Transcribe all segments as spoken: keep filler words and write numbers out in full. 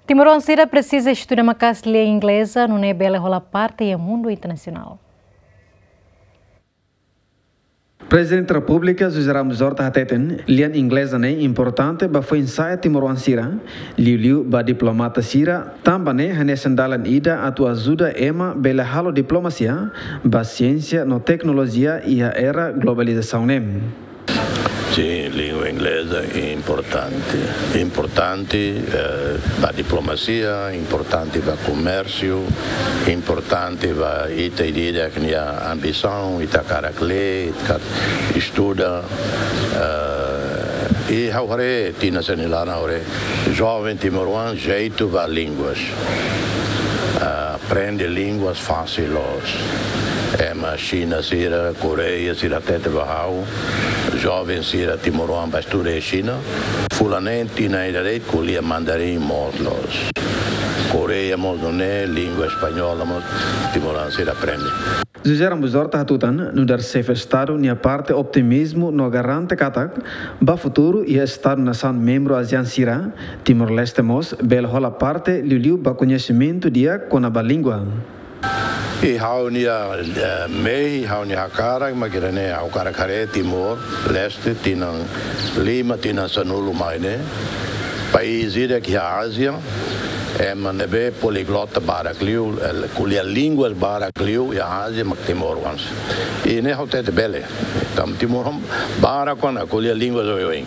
Timoroan sira presiza estuda maka'as lian ingleza, nune'e bele hola parte iha mundu internasionál. Prezidente Repúblika José Ramos Horta hateten, lian ingleza ne'e importante ba foin-sa'e timoroan sira, liuliu ba diplomata sira, tanba ne'e hanesan dalan ida atu ajuda ema bele halo diplomasia ba siénsia no teknolojia iha era globalizasaun ne'e. Sin, língua ingleza importante. Importante, eh, ba diplomasia, importante ba komérsiu, importante ba ita ida-idak nia ambisaun, ita hakarak lee, ita hakarak estuda. Eh, i ha'u haree, tinan sira-nia laran ha'u haree, joven timoroan jeitu ba línguas. Eh, aprende línguas fasil loos. Ema Xina sira, Koreia sira hatete ba ha'u, joven sira timoroan bá estuda iha Xina. Fulan neen, tinan ida de'it ko'alia mandarin moos loos. Koreia mós nune'e, língua espanhola mós timoroan sira aprende. José Ramos Horta hatutan, nu'udar xefe Estadu nia parte optimizmu no garante katak, ba futuru iha Estadu nasaun membru ASEAN sira, Timor-Leste mós bele hola parte liuliu ba koñesimentu di'ak kona-ba língua. I ha'u-nia, eh, mehi, ha'u-nia hakarak, mak ida-ne'e ha'u hakarak haree Timor-Leste tinan lima, tinan sanulu mai ne'e. País ida ke iha Ázia, ema ne'ebé poliglota barak liu, eh, ko'alia línguas barak liu iha Ázia, mak timoroan sira. I ne'e ha'u hatete bele. Tanba timoroan barak ona ko'alia línguas oioin.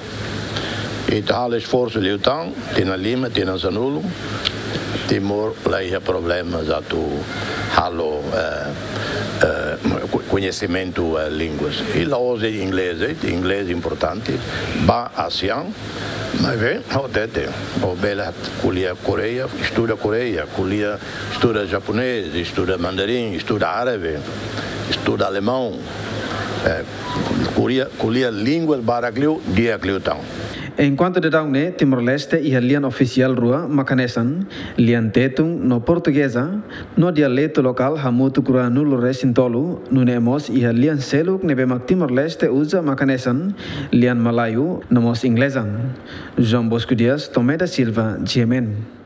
Ita halo esforsu liután, tinan lima, tinan sanulu, Timor la iha problema atu halo, eh, eh, ko-, koñesimentu, eh, línguas. I la'ós inglés, eh, inglés importante, ba ASEAN, maibé, ha'u hatete, ó bele ko'alia Koreia, estuda Koreia, ko'alia, estuda japonés, estuda mandarin, estuda árabe, estuda alemão, eh, ko'alia, ko'alia línguas barak liu, di'ak liután. Enkuantu daudaun ne'e, Timor-Leste iha lian ofisiál rua, mak hanesan, lian Tetun no Portugeza, no dialetu lokál hamutuk ruanulu-resin-tolu, nune'e mós iha lian seluk ne'ebé mak Timor-Leste uza mak hanesan, lian Malaio, no mós Ingleza. João Bosco Dias, Tomé da Silva, G M N.